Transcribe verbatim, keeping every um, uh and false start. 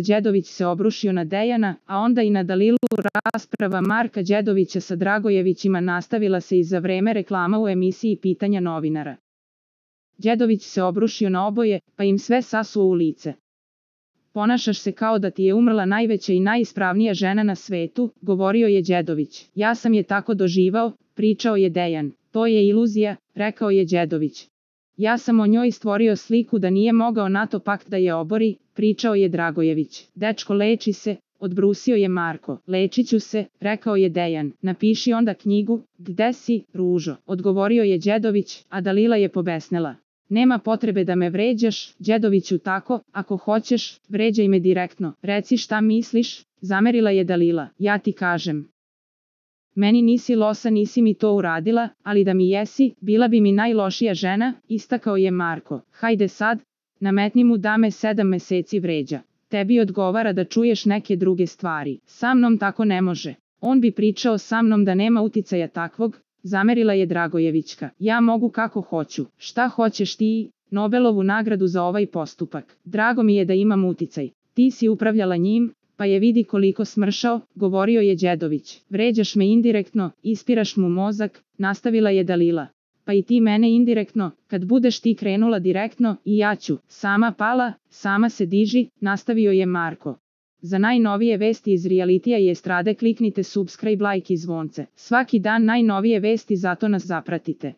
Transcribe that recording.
Đedović se obrušio na Dejana, a onda i na Dalilu. Rasprava Marka Đedovića sa Dragojevićima nastavila se i za vreme reklama u emisiji Pitanja novinara. Đedović se obrušio na oboje, pa im sve sasuo u lice. Ponašaš se kao da ti je umrla najveća i najispravnija žena na svetu, govorio je Đedović. Ja sam je tako doživao, pričao je Dejan. To je iluzija, rekao je Đedović. Ja sam o njoj stvorio sliku da nije mogao NATO pakt da je obori, pričao je Dragojević. Dečko, leči se, odbrusio je Marko. Lečit ću se, rekao je Dejan. Napiši onda knjigu. Gde si, Ružo, odgovorio je Đedović, a Dalila je pobesnela. Nema potrebe da me vređaš, Đedoviću, tako, ako hoćeš, vređaj me direktno. Reci šta misliš, zamerila je Dalila. Ja ti kažem. Meni nisi losa, nisi mi to uradila, ali da mi jesi, bila bi mi najlošija žena, istakao je Marko. Hajde sad, nametni mu da me sedam meseci vređa. Tebi odgovara da čuješ neke druge stvari. Sa mnom tako ne može. On bi pričao sa mnom da nema uticaja takvog, zamerila je Dragojevićka. Ja mogu kako hoću. Šta hoćeš ti? Nobelovu nagradu za ovaj postupak. Drago mi je da imam uticaj. Ti si upravljala njim, pa je vidi koliko smršao, govorio je Đedović. Vređaš me indirektno, ispiraš mu mozak, nastavila je Dalila. Pa i ti mene indirektno, kad budeš ti krenula direktno, i ja ću. Sama pala, sama se diži, nastavio je Marko. Za najnovije vesti iz realitija i estrade kliknite subscribe, like i zvonce. Svaki dan najnovije vesti, zato nas zapratite.